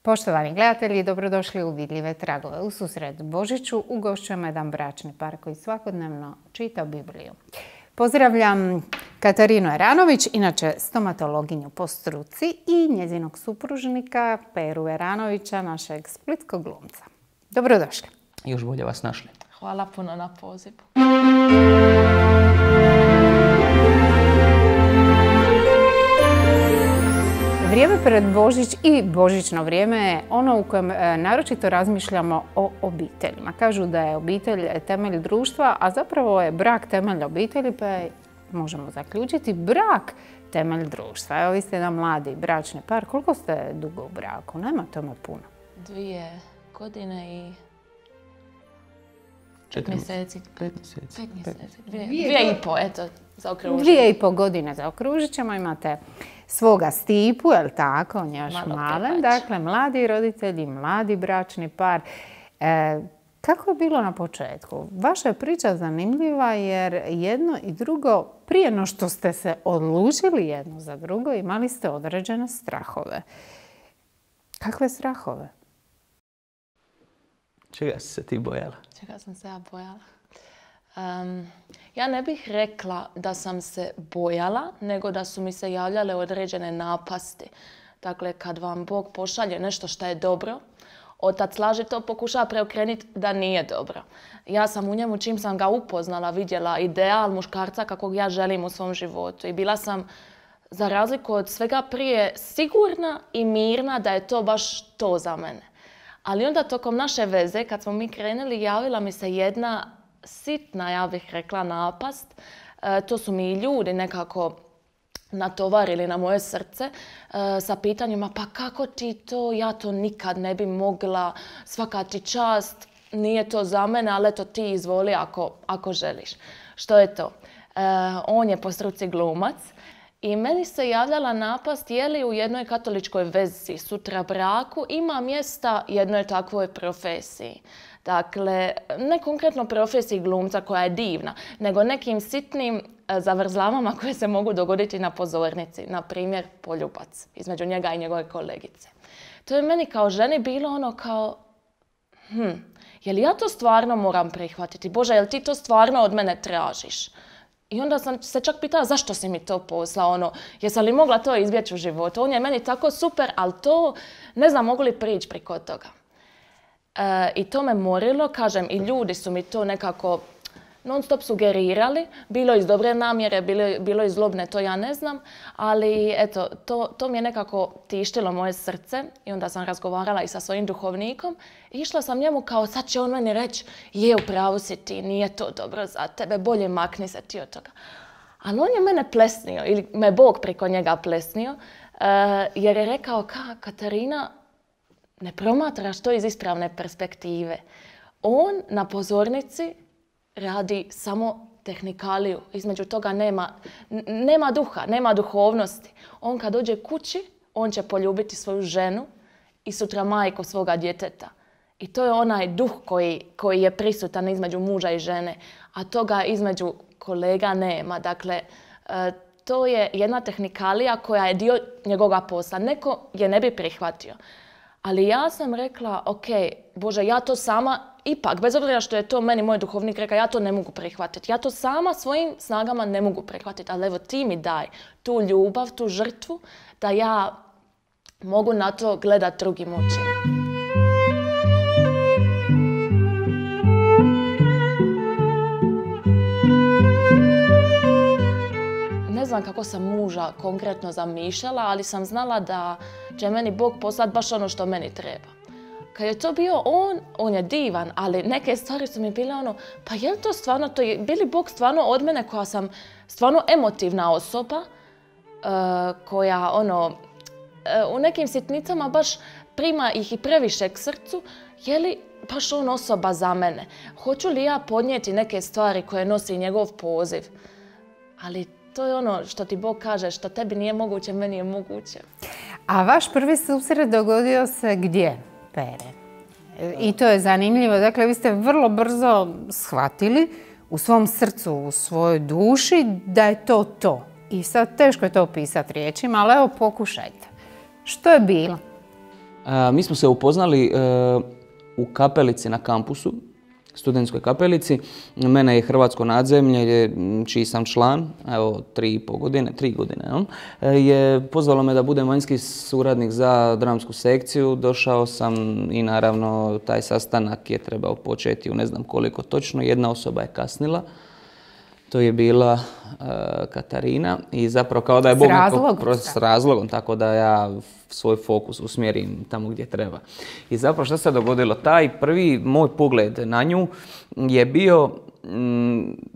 Poštovani gledatelji, dobrodošli u Vidljive tragove. U susret Božiću ugošćujemo jedan bračni par koji svakodnevno čita Bibliju. Pozdravljam Katarinu Eranović, inače stomatologinju po struci, i njezinog supružnika Peru Eranovića, našeg splitskog glumca. Dobrodošli. Još bolje vas našli. Hvala puno na pozivu. Vrijeme pred Božić i božićno vrijeme je ono u kojem naročito razmišljamo o obiteljima. Kažu da je obitelj temelj društva, a zapravo je brak temelj obitelji, pa je, možemo zaključiti, brak temelj društva. Evo, vi ste jedan mladi bračni par. Koliko ste dugo u braku? Nema tome puno. 2 godine i 5 mjeseci. 5 mjeseci. 5 mjeseci. 2,5, eto, zaokružimo. 2,5 godine zaokružit ćemo. Imate svoga Stipu, je li tako? On je još malen. Dakle, mladi roditelji, mladi bračni par. Kako je bilo na početku? Vaša je priča zanimljiva jer jedno i drugo, prije no što ste se odlučili jedno za drugo, imali ste određene strahove. Kakve strahove? Čega si se ti bojala? Čega sam se ja bojala? Ja ne bih rekla da sam se bojala, nego da su mi se javljale određene napasti. Dakle, kad vam Bog pošalje nešto što je dobro, otac laži to pokušava preokrenuti da nije dobro. Ja sam u njemu, čim sam ga upoznala, vidjela ideal muškarca kakvog ja želim u svom životu. I bila sam, za razliku od svega prije, sigurna i mirna da je to baš to za mene. Ali onda tokom naše veze, kad smo mi krenuli, javila mi se jedna sitna, ja bih rekla, napast. To su mi ljudi nekako natovarili na moje srce sa pitanjima: pa kako ti to, ja to nikad ne bi mogla, svaka ti čast, nije to za mene, ali eto ti izvoli ako želiš. Što je to? On je po struci glumac i meni se javljala napast je li u jednoj katoličkoj vezi, sutra braku, ima mjesta jednoj takvoj profesiji. Dakle, ne konkretno profesiji glumca koja je divna, nego nekim sitnim zavrzlamama koje se mogu dogoditi na pozornici. Na primjer, poljubac između njega i njegove kolegice. To je meni kao ženi bilo ono kao, je li ja to stvarno moram prihvatiti? Bože, jel ti to stvarno od mene tražiš? I onda sam se čak pitala zašto si mi to poslao, jesam li mogla to izbjeći u životu? On je meni tako super, ali to ne znam mogu li prići preko toga. I to me morilo, kažem, i ljudi su mi to nekako non stop sugerirali, bilo iz dobre namjere, bilo iz zlobne, to ja ne znam, ali eto, to mi je nekako tištilo moje srce i onda sam razgovarala i sa svojim duhovnikom i išla sam njemu kao sad će on meni reći je, u pravu si ti, nije to dobro za tebe, bolje makni se ti od toga. Ali on je mene plesnio, ili me Bog preko njega plesnio, jer je rekao Katarina, ne promatraš to iz ispravne perspektive. On na pozornici radi samo tehnikaliju. Između toga nema duha, nema duhovnosti. On kad dođe kući, on će poljubiti svoju ženu i sutra majku svoga djeteta. I to je onaj duh koji je prisutan između muža i žene, a toga između kolega nema. Dakle, to je jedna tehnikalija koja je dio njegovog posla. Neko je ne bi prihvatio. Ali ja sam rekla, ok, Bože, ja to sama, ipak, bez obzira što je to meni moj duhovnik rekao, ja to ne mogu prihvatiti. Ja to sama svojim snagama ne mogu prihvatiti, ali evo ti mi daj tu ljubav, tu žrtvu, da ja mogu na to gledati drugim očima. Ne znam kako sam muža konkretno zamišljala, ali sam znala da će meni Bog poslati baš ono što meni treba. Kad je to bio on je divan, ali neke stvari su mi bile pa je li to stvarno, bi li Bog stvarno od mene koja sam stvarno emotivna osoba, koja u nekim sitnicama baš prima ih i previše k srcu, je li baš on osoba za mene? Hoću li ja podnijeti neke stvari koje nosi njegov poziv? Ali to je ono što ti Bog kaže, što tebi nije moguće, meni je moguće. A vaš prvi susret dogodio se gdje, Pere? I to je zanimljivo. Dakle, vi ste vrlo brzo shvatili u svom srcu, u svojoj duši da je to to. I sad teško je to opisati riječima, ali evo pokušajte. Što je bilo? Mi smo se upoznali u kapelici na kampusu, studentskoj kapelici. Mene je Hrvatsko nadzemlje, čiji sam član, evo 3 godine, je pozvalo me da budem vanjski suradnik za dramsku sekciju. Došao sam i naravno taj sastanak je trebao početi u ne znam koliko točno. Jedna osoba je kasnila. To je bila Katarina i zapravo kao da je Bog s razlogom, tako da ja svoj fokus usmjerim tamo gdje treba. I zapravo što se dogodilo? Taj prvi moj pogled na nju je bio,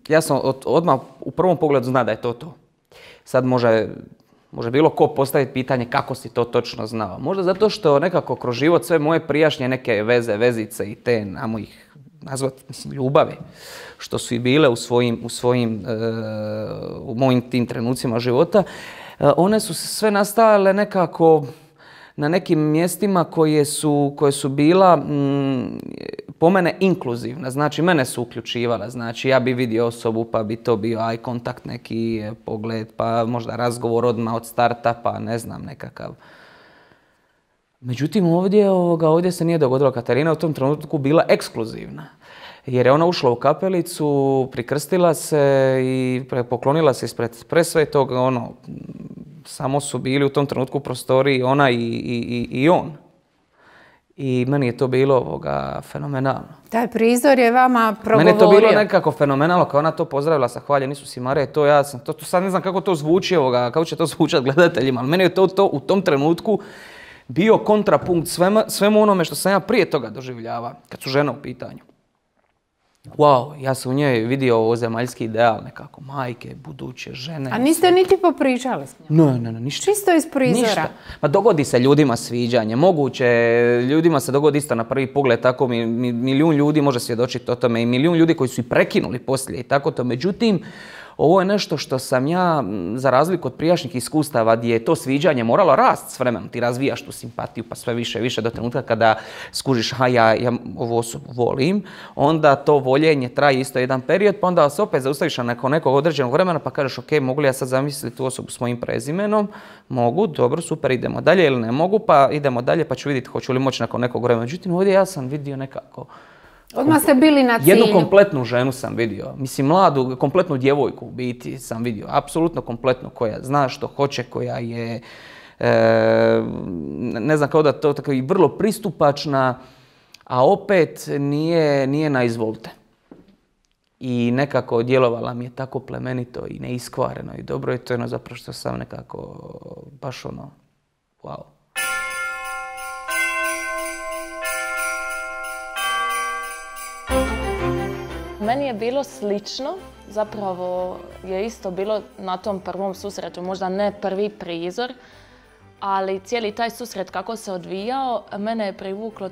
ja sam odmah u prvom pogledu zna da je to. Sad može bilo ko postaviti pitanje kako si to točno znao. Možda zato što nekako kroz život sve moje prijašnje neke vezice i te, namo ih nazvati, ljubavi, što su i bile u mojim tim trenucima života, one su sve nastajale nekako na nekim mjestima koje su bila po mene inkluzivna. Znači, mene su uključivala. Znači, ja bi vidio osobu, pa bi to bio eye contact, neki pogled, pa možda razgovor odmah od starta, pa ne znam, nekakav. Međutim, ovdje se nije dogodilo. Katarina u tom trenutku bila ekskluzivna. Jer je ona ušla u kapelicu, prikrstila se i poklonila se ispred presvetog. Samo su bili u tom trenutku u prostoriji ona i on. I meni je to bilo fenomenalno. Taj prizor je vama progovorio. Meni je to bilo nekako fenomenalno, kao ona to pozdravila sa hvaljen Isus i Marija. To sad ne znam kako to zvuči, kako će to zvučati gledateljima, ali meni je to u tom trenutku bio kontrapunkt svemu onome što sam ja prije toga doživljavao, kad su žene u pitanju. Wow, ja sam u njoj vidio ovozemaljski ideal nekako, majke, buduće, žene. A niste niti popričali s njom? Ne, ništa. Čisto iz prizora? Ništa. Ma dogodi se ljudima sviđanje, moguće, ljudima se dogodi isto na prvi pogled, tako milijun ljudi može svjedočiti o tome i milijun ljudi koji su i prekinuli poslije i tako to. Međutim, ovo je nešto što sam ja, za razliku od prijašnjih iskustava, gdje je to sviđanje moralo rast s vremenom. Ti razvijaš tu simpatiju pa sve više i više do trenutka kada skužiš ja ovu osobu volim, onda to voljenje traje isto jedan period, pa onda se opet zaustaviš nakon nekog određenog vremena pa kažeš ok, mogu li ja sad zamisliti tu osobu s mojim prezimenom? Mogu, dobro, super, idemo dalje ili ne mogu, pa idemo dalje pa ću vidjeti hoću li moći nakon nekog vremena. Međutim, ovdje ja sam vidio nekako odmah ste bili na cilju. Jednu kompletnu ženu sam vidio. Mislim, mladu, kompletnu djevojku u biti sam vidio. Apsolutno kompletnu, koja zna što hoće, koja je, ne znam, kao da to tako i vrlo pristupačna, a opet nije na izvolte. I nekako djelovala mi je tako plemenito i neiskvareno i dobro. I to je zapravo što sam nekako baš wow. Meni je bilo slično, zapravo je isto bilo na tom prvom susretu, možda ne prvi prizor, ali cijeli taj susret kako se odvijao, mene je privuklo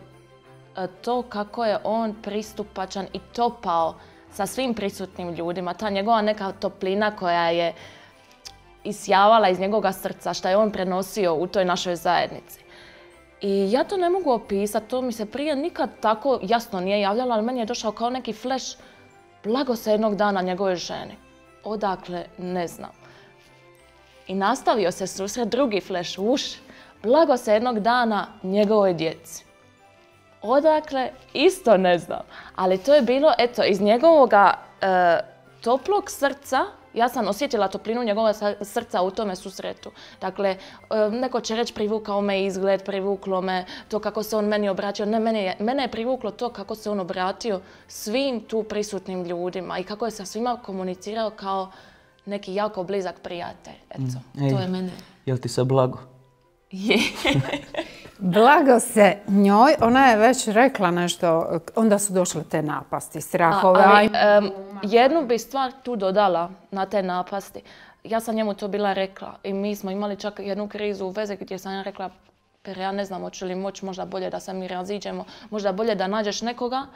to kako je on pristupačan i topao sa svim prisutnim ljudima. Ta njegova neka toplina koja je isjavala iz njegovog srca, što je on prenosio u toj našoj zajednici. I ja to ne mogu opisati, to mi se prije nikad tako jasno nije javljalo, ali meni je došao kao neki flash blago se jednog dana njegovoj ženi. Odakle, ne znam. I nastavio se susret, drugi flash, blago se jednog dana njegovoj djeci. Odakle, isto ne znam. Ali to je bilo, eto, iz njegovoga toplog srca, ja sam osjetila toplinu njegova srca u tome susretu. Dakle, neko će reći privukao me izgled, privuklo me to kako se on meni obratio. Ne, mene je privuklo to kako se on obratio svim tu prisutnim ljudima i kako je sa svima komunicirao kao neki jako blizak prijatelj. Eto, to je mene. Jel ti se blago? Je. Blago se njoj, ona je već rekla nešto, onda su došle te napasti, strahove. Jednu bi stvar tu dodala na te napasti. Ja sam njemu to bila rekla i mi smo imali čak jednu krizu u vezi gdje sam ja rekla ja ne znam hoću li moći, možda bolje da se mi raziđemo, možda bolje da nađeš nekoga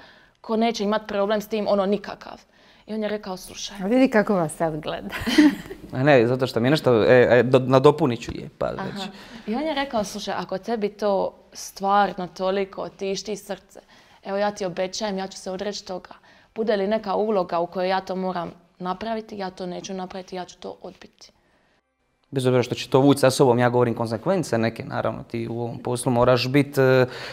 ko neće imati problem s tim, nikakav. I on je rekao, slušaj. Vidi kako vas sad gleda. Ne, zato što mi je nešto, nadopunit ću je, pa već. I on je rekao, slušaj, ako tebi to stvarno toliko tišti srce, evo ja ti obećajem, ja ću se odreći toga. Bude li neka uloga u kojoj ja to moram napraviti, ja to neću napraviti, ja ću to odbiti. Bez obzira što će to vući sa sobom, ja govorim konsekvence neke, naravno, ti u ovom poslu moraš biti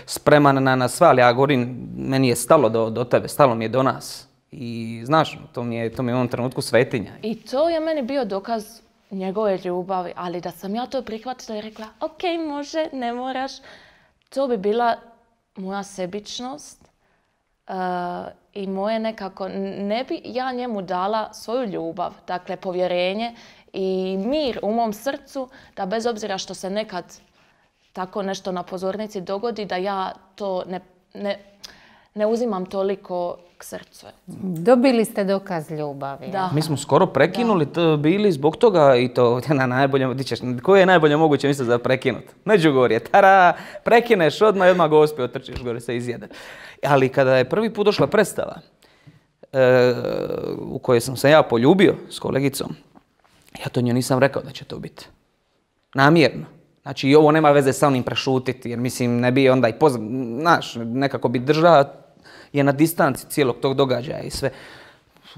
spreman na sve, ali ja govorim, meni je stalo do tebe, stalo mi je do nas. I znaš, to mi je u ovom trenutku svetinja. I to je meni bio dokaz njegove ljubavi, ali da sam ja to prihvatila i rekla, ok, može, ne moraš, to bi bila moja sebičnost i moje nekako, ne bi ja njemu dala svoju ljubav, dakle povjerenje i mir u mom srcu, da bez obzira što se nekad tako nešto na pozornici dogodi, da ja to ne uzimam toliko k srcu. Dobili ste dokaz ljubavi. Da. Mi smo skoro prekinuli to bili zbog toga i to na najbolje, koje je najbolje moguće misle za prekinut? Međugorje, tara, prekineš odmah i odmah Gospi otrčiš gore se izjede. Ali kada je prvi put došla predstava u kojoj sam se ja poljubio s kolegicom, ja to njoj nisam rekao da će to biti. Namjerno. Znači i ovo nema veze sa onim prešutiti, jer mislim ne bi onda i znaš, nekako bi držao je na distanci cijelog tog događaja i sve.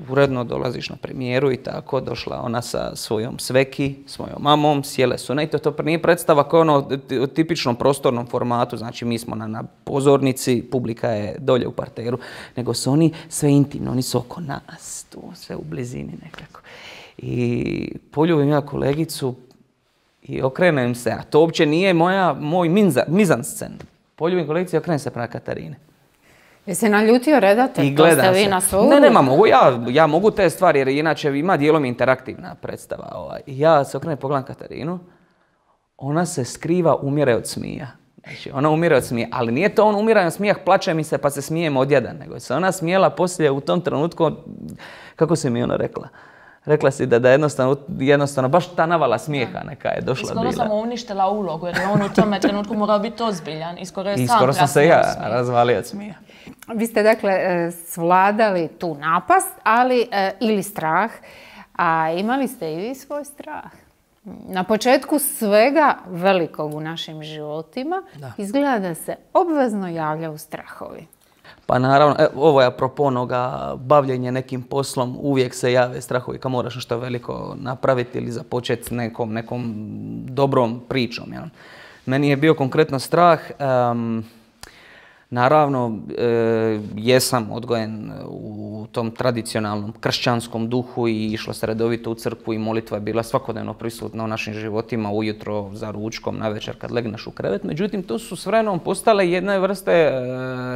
Uredno dolaziš na premijeru i tako, došla ona sa svojom sveki, svojom mamom, sjele su. Ne, to nije predstava kao ono u tipičnom prostornom formatu, znači mi smo na pozornici, publika je dolje u parteru, nego su oni sve intimno, oni su oko nas, tu sve u blizini nekako. I poljubim ja kolegicu i okrenem se, a to uopće nije moj mizanscen. Poljubim kolegicu i okrenem se prema Katarine. Jesi naljutio redatelj? I gledam se. Na svoju? Ne, mogu ja mogu te stvari jer inače ima dijelom interaktivna predstava. Ja se okrenem pogledam Katarinu, ona se skriva, umire od smija. Znači, ona umire od smija, ali nije to on umire od smijah, plače mi se pa se smijem odjedan, nego se ona smijela poslije u tom trenutku, kako se mi ona rekla? Rekla si da jednostavno baš ta navala smijeha neka je došla bila. Skoro sam uništila ulogu jer je on u tome trenutku morao biti ozbiljan i skoro sam se ja razvalio od smijeha. Vi ste dakle svladali tu napast, ali ili strah, a imali ste i vi svoj strah. Na početku svega velikog u našim životima izgleda da se obvezno javljaju strahovi. Pa naravno, ovo je apropo onoga bavljenja nekim poslom, uvijek se jave strahovi kad moraš nešto veliko napraviti ili započeti s nekom dobrom pričom. Ja. Meni je bio konkretno strah, naravno jesam odgojen u tom tradicionalnom kršćanskom duhu i išlo se redovito u crkvu i molitva je bila svakodnevno prisutna u našim životima, ujutro, za ručkom, navečer kad legneš u krevet. Međutim, to su s vremenom postale jedne vrste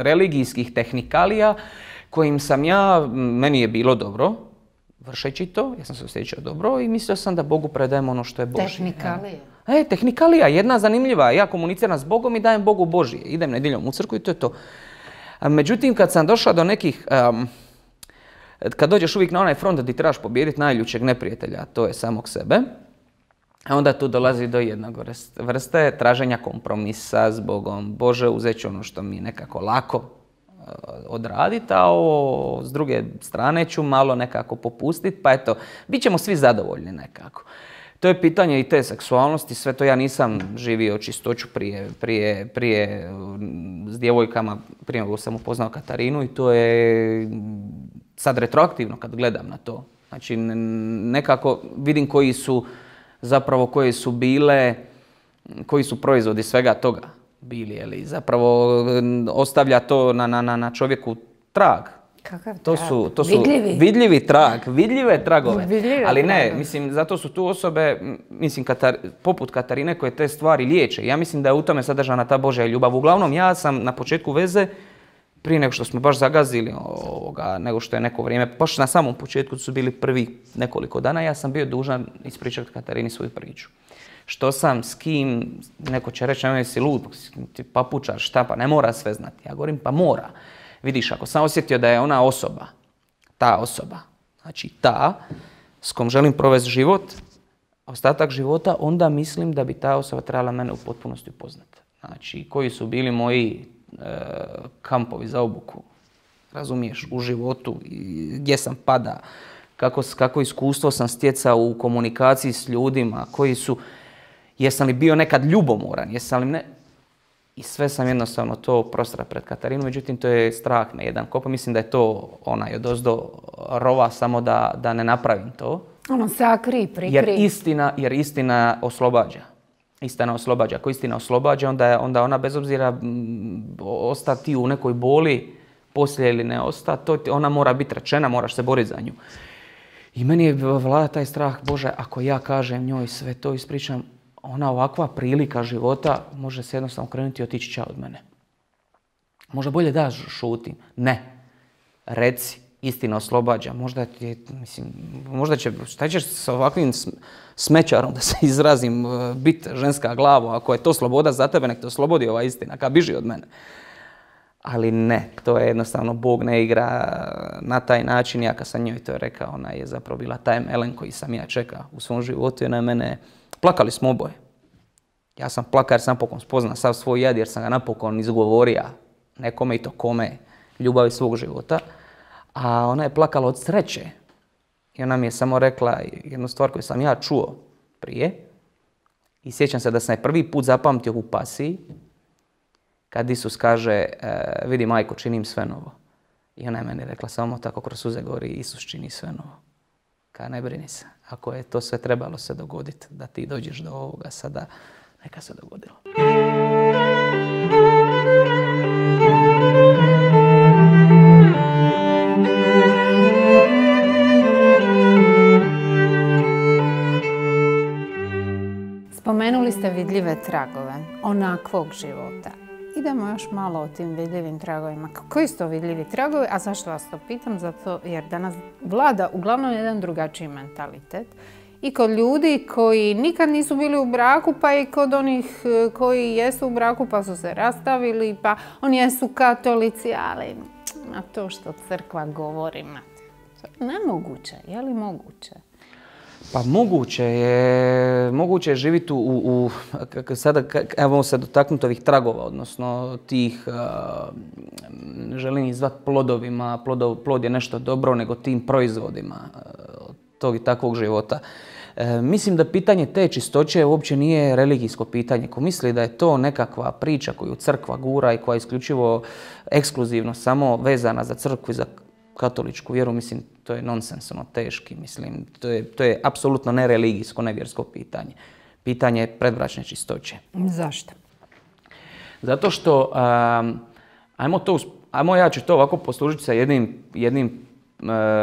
religijskih tehnikalija kojim sam meni je bilo dobro, vršeći to, ja sam se osjećao dobro i mislio sam da Bogu predajem ono što je Božje. Tehnikalija. Tehnikalija, jedna zanimljiva. Ja komuniciram s Bogom i dajem Bogu Božje. Idem nedjeljom u crkvu i to je to. Međutim, kad sam došao do nekih... kad dođeš uvijek na onaj front gdje trebaš pobijediti najljućeg neprijatelja, to je samog sebe, onda tu dolazi do jednog vrste traženja kompromisa s Bogom. Bože, uzet ću ono što mi nekako lako odraditi, a ovo s druge strane ću malo nekako popustiti, pa eto, bit ćemo svi zadovoljni nekako. To je pitanje i te seksualnosti, sve to ja nisam živio čistoću prije s djevojkama, prije nego sam upoznao Katarinu i to je sad retroaktivno kad gledam na to. Znači nekako vidim koje su bile, koji su proizvodi svega toga bili, ali zapravo ostavlja to na čovjeku trag. Kakav to trag? su vidljivi trag, vidljive tragove. Ali ne, mislim, zato su tu osobe, mislim, poput Katarine koje te stvari liječe. Ja mislim da je u tome sadržana ta Božja ljubav. Uglavnom, ja sam na početku veze, prije nego što smo baš zagazili nego što je neko vrijeme, baš na samom početku su bili prvi nekoliko dana, ja sam bio dužan ispričati Katarini svoju priču. Što sam, s kim, neko će reći, nemoj si lud, ti papučar, šta, pa ne mora sve znati. Ja govorim, pa mora. Vidiš, ako sam osjetio da je ona osoba, ta osoba, znači ta s kom želim provesti život, ostatak života, onda mislim da bi ta osoba trebala mene u potpunosti upoznati. Znači, koji su bili moji kampovi za obuku, razumiješ, u životu, gdje sam pada, kako iskustvo sam stjecao u komunikaciji s ljudima, jesam li bio nekad ljubomoran, jesam li ne... I sve sam jednostavno to prostrao pred Katarinu, međutim to je strah na jedan kop. Mislim da je to onaj odozdo rova samo da ne napravim to. Ono sakri, prikri. Jer istina oslobađa. Istina oslobađa. Ako istina oslobađa, onda ona bez obzira ostati u nekoj boli poslije ili ne ostati, ona mora biti rečena, moraš se boriti za nju. I meni je vlada taj strah, Bože, ako ja kažem njoj sve to ispričam, ona ovakva prilika života može se jednostavno krenuti i otići čao od mene. Možda bolje da šutim. Ne. Reci, istina oslobađa. Možda će, šta ćeš s ovakvim smećarom, da se izrazim, biti ženska glava. Ako je to sloboda za tebe, nek te oslobodi ova istina, ka biži od mene. Ali ne, to je jednostavno, Bog ne igra na taj način. Ja kad sam njoj to rekao, ona je zapravo bila taj melem koji sam ja čekao u svom životu i ona je mene, plakali smo oboje. Ja sam plakao jer sam napokon spoznao sav svoj jad jer sam ga napokon izgovorio nekome i to kome, ljubavi svog života. A ona je plakala od sreće i ona mi je samo rekla jednu stvar koju sam ja čuo prije i sjećam se da sam je prvi put zapamtio u pasiji kad Isus kaže, vidi majko, činim sve novo. I ona je meni rekla samo tako kroz suze govori, Isus čini sve novo. Ka ne brini se, ako je to sve trebalo se dogoditi, da ti dođeš do ovoga sada, neka se dogodilo. Spomenuli ste vidljive tragove onakvog života. Idemo još malo o tim vidljivim tragovima. Koji su to vidljivi tragovi? A zašto vas to pitam? Zato jer danas vlada uglavnom jedan drugačiji mentalitet. I kod ljudi koji nikad nisu bili u braku, pa i kod onih koji jesu u braku pa su se rastavili, pa oni jesu katolici, ali na to što crkva govori, nemoguće. Je li moguće? Pa moguće je živjeti sada, evo se dotaknuti ovih tragova, odnosno tih, želim ih zvati plodovima, plod je nešto dobro, nego tim proizvodima tog i takvog života. Mislim da pitanje te čistoće uopće nije religijsko pitanje. Ko misli da je to nekakva priča koju crkva gura i koja je isključivo ekskluzivno samo vezana za crkvu i za katoličku vjeru, mislim, to je nonsens, teški, mislim, to je apsolutno nereligijsko, nevjersko pitanje. Pitanje predbračne čistoće. Zašto? Zato što, ja ću to ovako poslužiti sa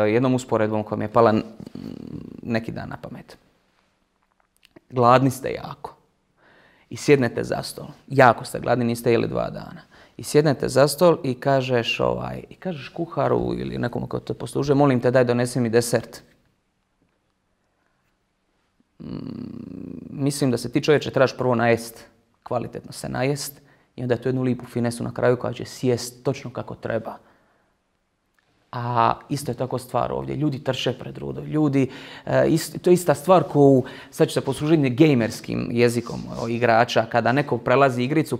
jednom usporedbom koja mi je pala neki dan na pamet. Gladni ste jako i sjednete za stol. Jako ste gladni, niste jeli 2 dana. I sjednete za stol i kažeš kuharu ili nekomu ko te poslužuje, molim te daj donesi mi desert. Mislim da se ti čovječe trebaš prvo najest, kvalitetno se najest i onda tu jednu lipu finesu na kraju koja će sjest točno kako treba. A isto je tako stvar ovdje. Ljudi trče pred rudo. To je ista stvar koju, sad ću se poslužiti gamerskim jezikom igrača, kada neko prelazi igricu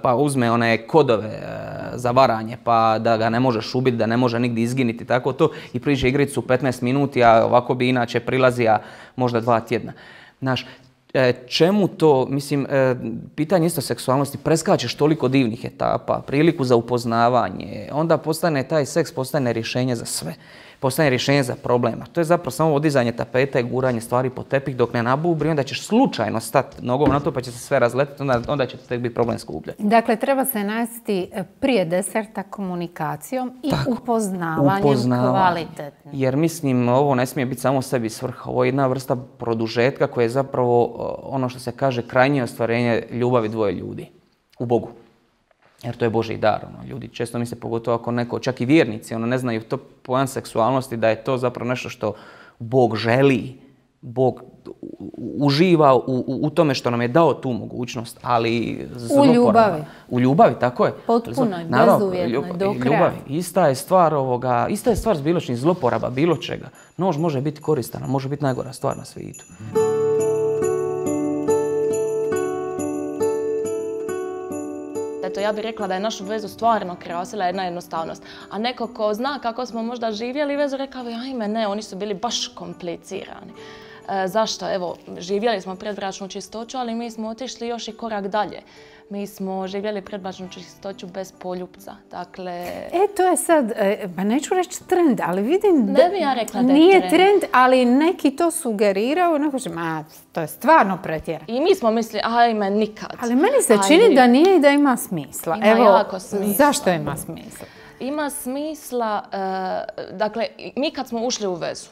pa uzme one kodove za varanje, pa da ga ne možeš ubiti, da ne može nigdje izginiti, tako to, i priđe igricu 15 minuti, a ovako bi inače prilazija možda 2 tjedna. Znaš, čemu to, mislim, pitanje isto seksualnosti, preskačeš toliko divnih etapa, priliku za upoznavanje, onda taj seks postane rješenje za sve, postane rješenje za problema. To je zapravo samo odizanje tapeta i guranje stvari po tepih dok ne nabubri, onda ćeš slučajno stati nogom na to pa će se sve razletiti, onda će tek biti problem skupljati. Dakle, treba se najesti prije deserta komunikacijom i upoznavanjem kvalitetnim. Jer mislim, ovo ne smije biti samo sebi svrha. Ovo je jedna vrsta produžetka koja je zapravo ono što se kaže krajnje ostvarenje ljubavi dvoje ljudi u Bogu. Jer to je Božji dar. Ljudi često misle, pogotovo ako neko, čak i vjernici, ne znaju to pojam seksualnosti, da je to zapravo nešto što Bog želi. Bog uživa u tome što nam je dao tu mogućnost, ali zloporaba. U ljubavi. U ljubavi, tako je. Potpunoj, bezuvjetnoj, do kraja. Ljubavi. Ista je stvar s bilo čim, zloporaba bilo čega. Nož može biti koristan, može biti najgora stvar na svijetu. Eto, ja bih rekla da je našu vezu stvarno krasila jedna jednostavnost. A neko ko zna kako smo možda živjeli vezu, rekao bi, ajme ne, oni su bili baš komplicirani. Zašto? Evo, živjeli smo predbračnu čistoću, ali mi smo otišli još i korak dalje. Mi smo živjeli predbračnu čistoću bez poljupca. Dakle... To je sad, pa neću reći trend, ali vidim ne bi ja rekla da je nije trend, ali neki to sugeriraju. Neko će, to je stvarno pretjerano. I mi smo mislili, ajme, nikad. Ali meni se čini da nije i da ima smisla. Ima jako smisla. Zašto ima smisla? Ima smisla, dakle, mi kad smo ušli u vezu,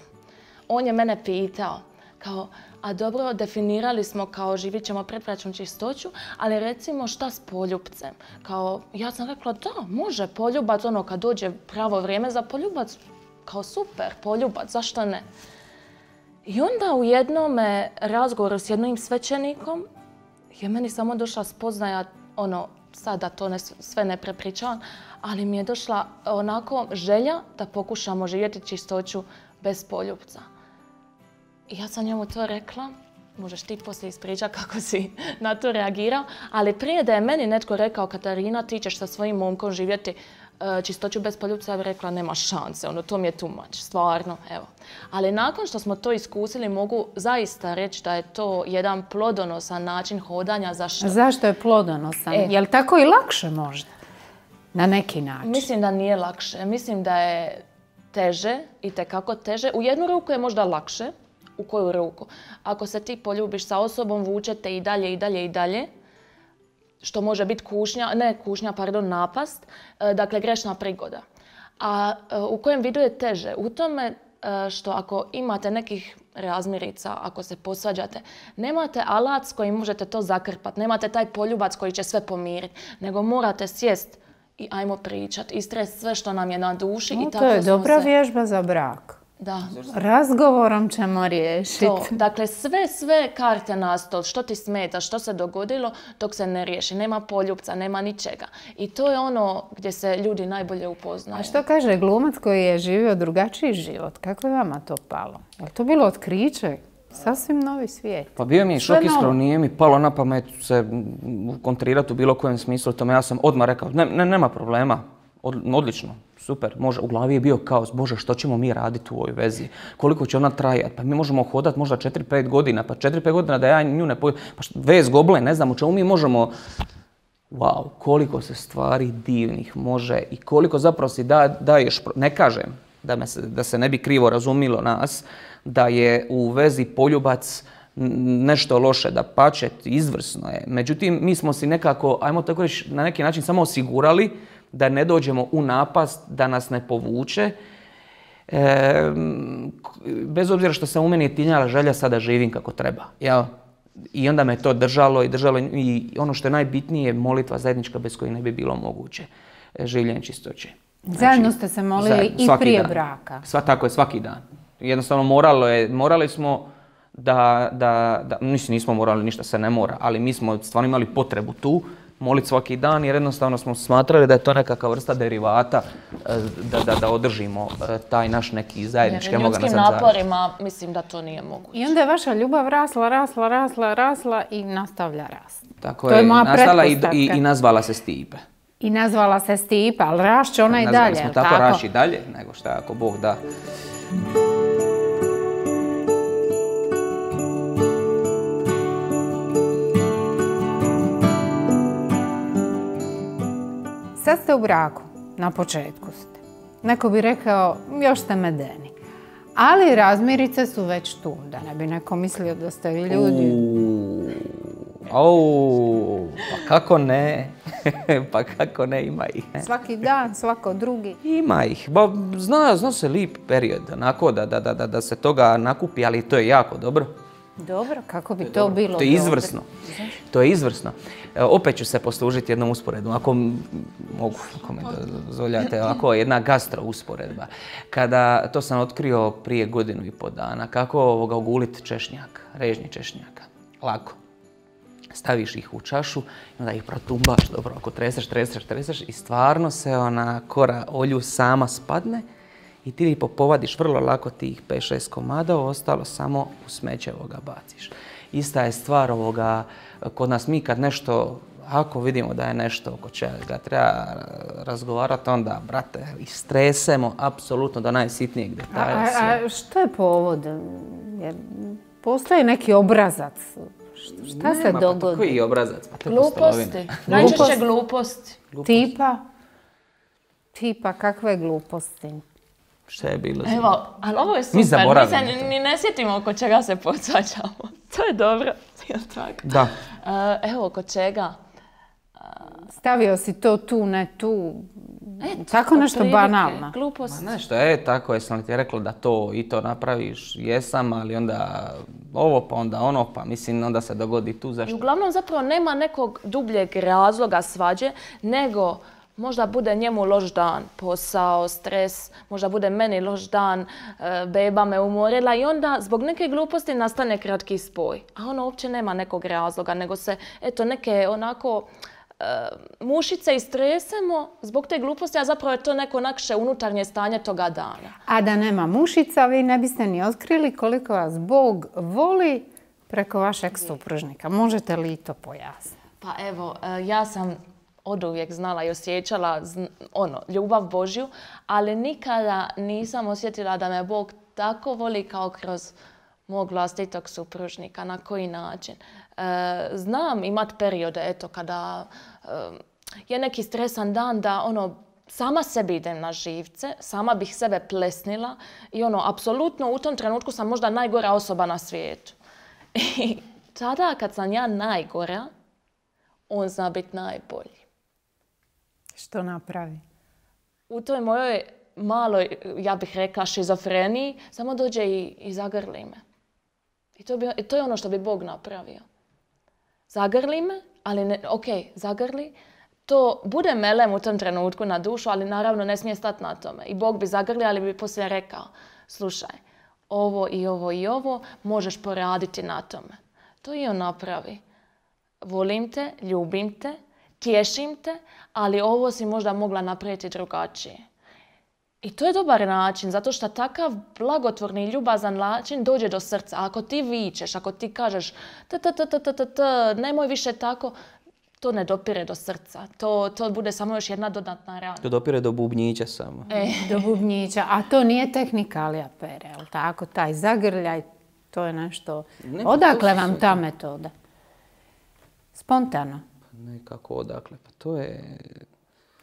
on je mene pitao, kao, a dobro, definirali smo kao živit ćemo predbračnu čistoću, ali recimo šta s poljupcem? Kao, ja sam rekla da, može poljubac, ono kad dođe pravo vrijeme za poljubac, kao super, poljubac, zašto ne? I onda u jednom razgovoru s jednim svećenikom je meni samo došla spoznaja, sada to sve ne prepričavam, ali mi je došla onako želja da pokušamo živjeti čistoću bez poljupca. I ja sam njemu to rekla, možeš ti poslije ispričati kako si na to reagirao, ali prije da je meni netko rekao, Katarina, ti ćeš sa svojim momkom živjeti čistoću bez poljupca, ja bih rekla, nema šanse, to mi je too much, stvarno, evo. Ali nakon što smo to iskusili, mogu zaista reći da je to jedan plodonosan način hodanja. Zašto? Zašto je plodonosan? Je li tako i lakše možda? Na neki način? Mislim da nije lakše. Mislim da je teže, itekako teže. U jednu ruku je možda lakše. U koju ruku? Ako se ti poljubiš sa osobom, vučete i dalje, i dalje, i dalje, što može biti napast, dakle grešna prigoda. A u kojem vidu je teže? U tome što ako imate nekih razmirica, ako se posvađate, nemate alat s kojim možete to zakrpati, nemate taj poljubac koji će sve pomiriti, nego morate sjest i ajmo pričati, istresti sve što nam je na duši. I tako to je dobra vježba za brak. Da. Razgovorom ćemo riješiti. Dakle, sve karte na stol, što ti smeta, što se dogodilo, dok se ne riješi. Nema poljupca, nema ničega. I to je ono gdje se ljudi najbolje upoznaju. A što kaže glumac koji je živio drugačiji život? Kako je vama to palo? Je to bilo otkriće? Sasvim novi svijet. Pa bio mi je šok, iskreno, nije mi palo na pamet se kontrirati u bilo kojem smislu tome. Ja sam odmah rekao, nema problema, odlično. Super, može. U glavi je bio kaos, Bože, što ćemo mi raditi u ovoj vezi? Koliko će ona trajati? Pa mi možemo hodati možda 4-5 godina, pa 4-5 godina da ja nju ne pojedem. Pa vez goble, ne znam u čemu mi možemo... Wow, koliko se stvari divnih može i koliko zapravo si daješ... Ne kažem da se ne bi krivo razumilo nas, da je u vezi poljubac nešto loše, da pače, izvrsno je. Međutim, mi smo si nekako, ajmo tako reći, na neki način samo osigurali da ne dođemo u napast, da nas ne povuče. Bez obzira što se u meni je tinjala želja sada živim kako treba. Ja? I onda me to držalo i ono što je najbitnije, molitva zajednička bez koje ne bi bilo moguće življenje čistoće. Zajedno ste se molili i prije braka. Tako je, svaki dan. Jednostavno morali smo nismo morali, ništa se ne mora, ali mi smo stvarno imali potrebu tu moliti svaki dan jer jednostavno smo smatrali da je to nekakva vrsta derivata da održimo taj naš neki zajednički. Jer ljudskim naporima mislim da to nije moguće. I onda je vaša ljubav rasla i nastavlja rast. Tako je, nastala i nazvala se Stipe. I nazvala se Stipa, ali rašće ona i dalje, je li tako? Tako rašći i dalje, nego šta ako Bog da. Sad ste u braku, na početku ste. Neko bi rekao, još ste medeni. Ali razmirice su već tu, da ne bi neko mislio da ste vi ljudi. Pa kako ne? Pa kako ne, ima ih. Svaki dan, svako drugi. Ima ih. Zna se lijep period, onako da se toga nakupi, ali to je jako dobro. Dobro, kako bi to bilo? To je izvrsno. To je izvrsno. Opet ću se poslužiti jednom usporedbom, ako mogu, ako mi dozvoljate, ovako jedna gastro usporedba. To sam otkrio prije 1.5 godina, kako oguliti češnjak, režnji češnjaka. Lako. Staviš ih u čašu i onda ih protumbaš dobro, ako treseš i stvarno se ona kora olju sama spadne i ti povadiš vrlo lako tih 5-6 komada, ostalo samo u smeće baciš. Ista je stvar kod nas mi kad nešto, ako vidimo da je nešto oko čega treba razgovarati, onda, brate, istresemo apsolutno do najsitnijeg detalja. A što je povod? postoji neki obrazac. Šta se dogodi? Koji obrazac? Pa to je Gluposti. pustolovina. Najčešće gluposti. Tipa kakve gluposti? Šta je bilo? Evo, ali ovo je super. Mi zaboravimo Mi se ni ne sjetimo oko čega se podsvađamo. To je dobro. Jel tako? Da. Evo, oko čega? Stavio si to tu, ne tu. Tako nešto banalno. Glupost. Ma nešto, tako jesam li ti rekla da to i to napraviš, jesam, ali onda ovo pa onda ono, pa mislim onda se dogodi tu I zašto. uglavnom zapravo nema nekog dubljeg razloga svađe, nego možda bude njemu loš dan, posao, stres, možda bude meni loš dan, beba me umorila i onda zbog neke gluposti nastane kratki spoj. A ono uopće nema nekog razloga, nego se eto neke onako mušice istresemo zbog te gluposti, a zapravo je to neko naše unutarnje stanje toga dana. A da nema mušica, vi ne biste ni otkrili koliko vas Bog voli preko vašeg supružnika. Možete li to pojasniti? Pa evo, ja sam oduvijek znala i osjećala ljubav Božju, ali nikada nisam osjetila da me Bog tako voli kao kroz mog vlastitog supružnika. Na koji način? Znam imat periode, eto, kada je neki stresan dan da sama sebi idem na živce, sama bih sebe plesnila i apsolutno u tom trenutku sam možda najgora osoba na svijetu. I tada kad sam ja najgora, on zna biti najbolji. Što napravi? U toj mojoj maloj, ja bih rekla, šizofreniji, samo dođe i zagrli me. I to je ono što bi Bog napravio. Zagrli me, ali zagrli. To bude melem u tom trenutku na dušu, ali naravno ne smije stati na tome. I Bog bi zagrli, ali bi poslije rekao, slušaj, ovo i ovo i ovo možeš poraditi na tome. To i on napravi. Volim te, ljubim te, tješim te, ali ovo si možda mogla napraviti drugačije. I to je dobar način, zato što takav blagotvorni i ljubazan način dođe do srca. Ako ti vičeš, ako ti kažeš nemoj više tako, to ne dopire do srca. To bude samo još jedna dodatna rana. To dopire do bubnjića samo. Do bubnjića, a to nije tehnikalija pere, ali tako, taj zagrljaj, to je nešto. Odakle vam ta metoda? Spontano? Nekako odakle, pa to je...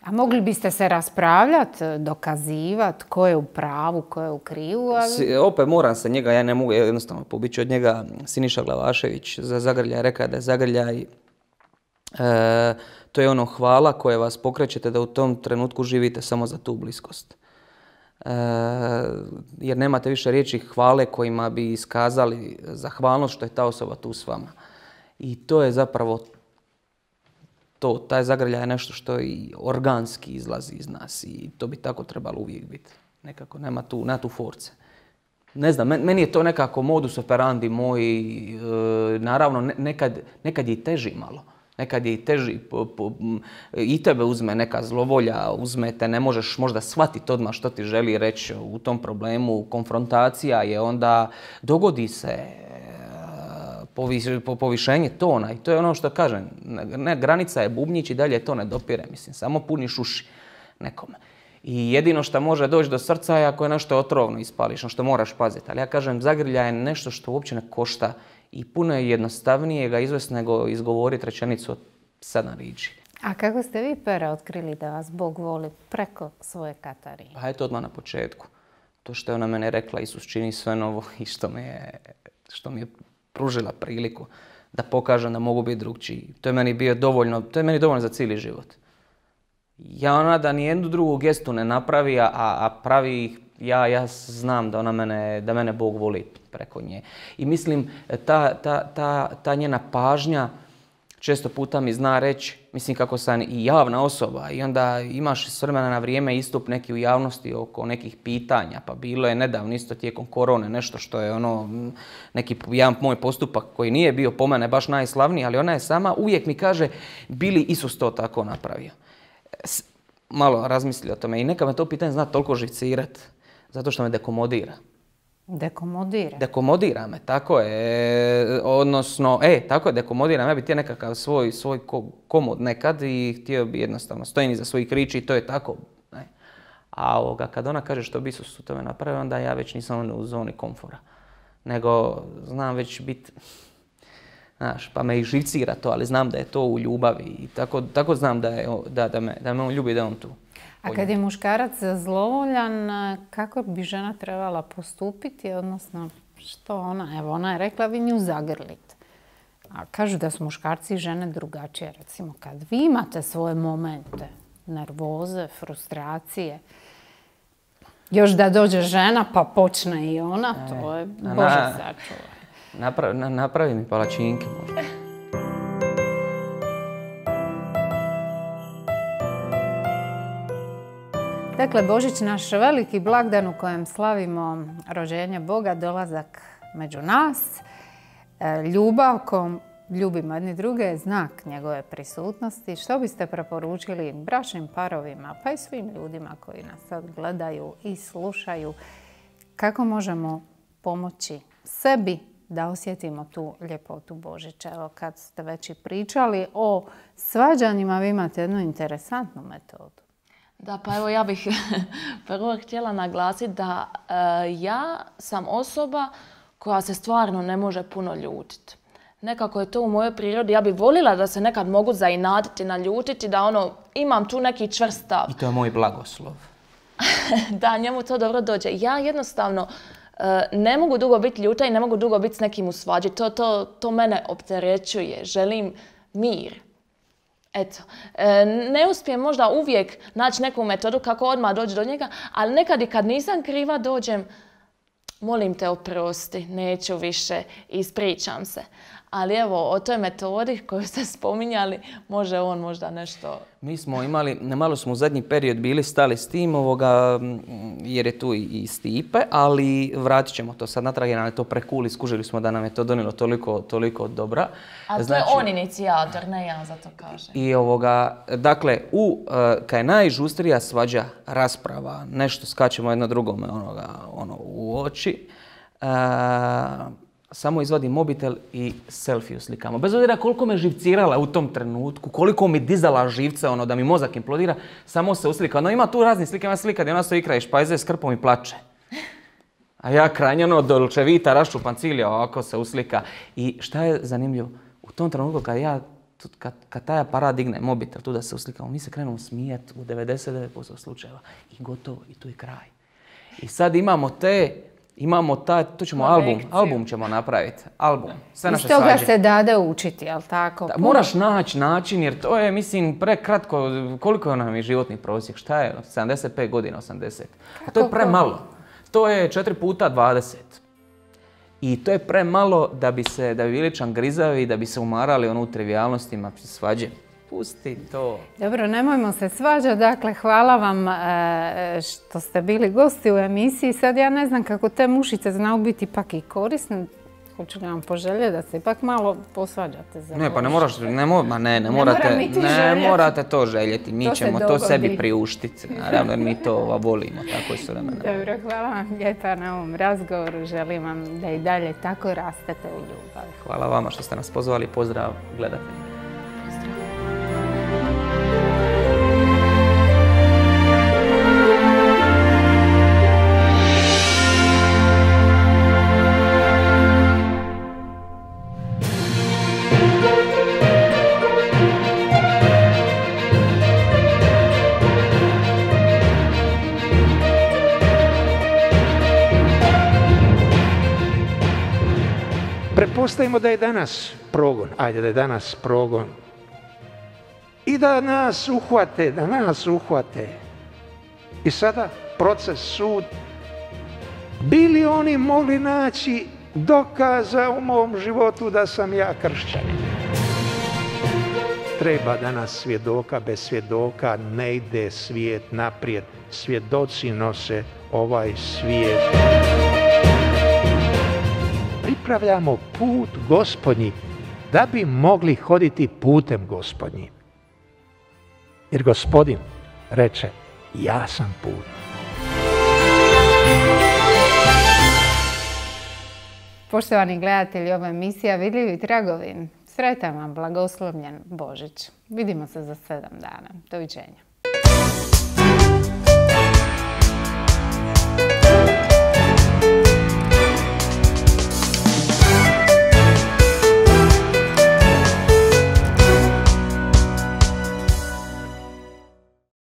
A mogli biste se raspravljati, dokazivati ko je u pravu, ko je u krivu? Ali... Opet moram se njega, ja ne mogu jednostavno pobići od njega. Siniša Glavašević za zagrljaj rekao da je zagrljaj to je hvala koje vas pokrećete da u tom trenutku živite samo za tu bliskost. Jer nemate više riječi hvale kojima bi iskazali zahvalnost što je ta osoba tu s vama. I to je zapravo taj zagrljaj je nešto što i organski izlazi iz nas i to bi tako trebalo uvijek biti. Nekako nema tu force. Ne znam, meni je to nekako modus operandi moj, naravno nekad je i teži malo. Nekad je i teži, i tebe uzme neka zlovolja, uzmete, ne možeš možda shvatiti odmah što ti želi reći u tom problemu, konfrontacija je onda, dogodi se povišenje tona i to je ono što kažem, granica je bubnjić i dalje to ne dopire, mislim, samo puniš uši nekome. I jedino što može doći do srca je ako je nešto otrovno ispališ, što moraš paziti. Ali ja kažem, zagrljaj je nešto što uopće ne košta i puno je jednostavnije ga izvesti nego izgovoriti rečenicu od 7 riječi. A kako ste vi, Pere, otkrili da vas Bog voli preko svoje Katarine? Pa eto odmah na početku. To što je ona mene rekla, Isus čini sve novo i što mi je pružila priliku da pokažem da mogu biti drugčiji. To je meni dovoljno za cijeli život. Ja da nijednu drugu gestu ne napravi, a pravi ih, ja znam da mene Bog voli preko nje. I mislim, ta njena pažnja često puta mi zna reći, mislim kako sam i javna osoba i onda imaš s vremena na vrijeme istup neki u javnosti oko nekih pitanja, pa bilo je nedavno isto tijekom korone nešto što je neki jedan moj postupak koji nije bio po mene baš najslavniji, ali ona je sama uvijek mi kaže bi li Isus to tako napravio. Malo razmisli o tome i neka me to pitanje zna toliko živcirati, zato što me dekomodira. Dekomodira? Dekomodira me, tako je. Odnosno, tako je, dekomodira me. Ja bi htio nekakav svoj komod nekad i htio bi jednostavno stojim iza svojih riječi i to je tako. A kad ona kaže što bi Isus u tome napravio, onda ja već nisam u zoni komfora. nego znam već biti, znaš, pa me i živcira to, ali znam da je to u ljubavi i tako znam da me on ljubi, da je on tu. A kad je muškarac zlovoljan, kako bi žena trebala postupiti, odnosno što ona, evo ona je rekla vi nju zagrlite. A kažu da su muškarci i žene drugačije. Recimo kad vi imate svoje momente, nervoze, frustracije, još da dođe žena pa počne i ona, to je Bože sačuvaj. Napravi mi palačinke možda. Dakle, Božić, naš veliki blagdan u kojem slavimo rođenje Boga, dolazak među nas, ljubav kojom ljubimo jedni druge je znak njegove prisutnosti. Što biste preporučili bračnim parovima, pa i svim ljudima koji nas sad gledaju i slušaju, kako možemo pomoći sebi da osjetimo tu ljepotu Božića? Evo, kad ste već i pričali o svađanjima, vi imate jednu interesantnu metodu. Da, pa evo ja bih prvo htjela naglasiti da ja sam osoba koja se stvarno ne može puno ljutiti. Nekako je to u mojoj prirodi. Ja bih volila da se nekad mogu zainatiti, naljutiti, da imam tu neki čvrst stav. I to je moj blagoslov. Da, njemu to dobro dođe. Ja jednostavno ne mogu dugo biti ljuta i ne mogu dugo biti s nekim u svađi. To mene opterećuje. Želim mir. Eto, ne uspijem možda uvijek naći neku metodu kako odmah doći do njega, ali nekad i kad nisam kriva dođem, molim te oprosti, neću više, ispričam se. Ali evo, o toj metodi koju ste spominjali, može on možda nešto... Mi smo imali, malo smo u zadnji period bili stali s tim, jer je tu i Stipe, ali vratit ćemo to sad natrag jer nam je to prekuli, skužili smo da nam je to donijelo toliko dobra. A to je on inicijator, ne ja, zato kažem. I dakle, kad je najžustrija svađa, rasprava, nešto skačemo jedno drugome u oči, samo izvadim mobitel i selfie slikamo. Bez obzira koliko me živcirala u tom trenutku, koliko mi dizala živce, da mi mozak implodira, samo se uslika. Ima tu raznih slika, ima slika gdje ona stoji kraj špajze s krpom i plače. A ja krajnje Dolce Vita, raščupan cilja, ovako se uslika. I šta je zanimljivo? U tom trenutku kad taj aparat digne mobitel tu da se uslikamo, mi se krenemo smijati u 99% slučajeva. I gotovo, i tu je kraj. I sad imamo to ćemo album ćemo napraviti, album, sve naše svađe. Iz toga se dade učiti, jel tako? Moraš naći način jer to je, mislim, prekratko, koliko nam je životni prosjek, šta je, 75 godina, 80. A to je premalo, to je 4 puta 20. I to je premalo da bi bili čangrizavi, da bi se umarali u trivijalnostima svađe. Pusti to. Dobro, nemojmo se svađati. Dakle, hvala vam što ste bili gosti u emisiji. Sad ja ne znam kako te mušice znaju biti ipak i korisne. Hoću li vam poželjeti da se ipak malo posvađate za Ne, pa ne moraš, ne morate to željeti. Mi ćemo to sebi priuštiti. Naravno, jer mi to volimo, tako su vremena. Dobro, hvala vam lijepa na ovom razgovoru. Želim vam da i dalje tako rastete u ljubavi. Hvala vama što ste nas pozvali. Pozdrav gledatelji. Pretpostavimo da je danas progon, i da nas uhvate, I sada proces, sud. Bili oni mogli naći dokaza u mom životu da sam ja kršćanin? Treba danas svjedoka, bez svjedoka ne ide svijet naprijed. Svjedoci nose ovaj svijet. Pripravljamo put Gospodnji da bi mogli hoditi putem Gospodnjim. Jer Gospodin reče, ja sam put. Poštovani gledatelji, ova emisija Vidljivi tragovi. Sretan vam, blagoslovljen Božić. Vidimo se za 7 dana. Doviđenja.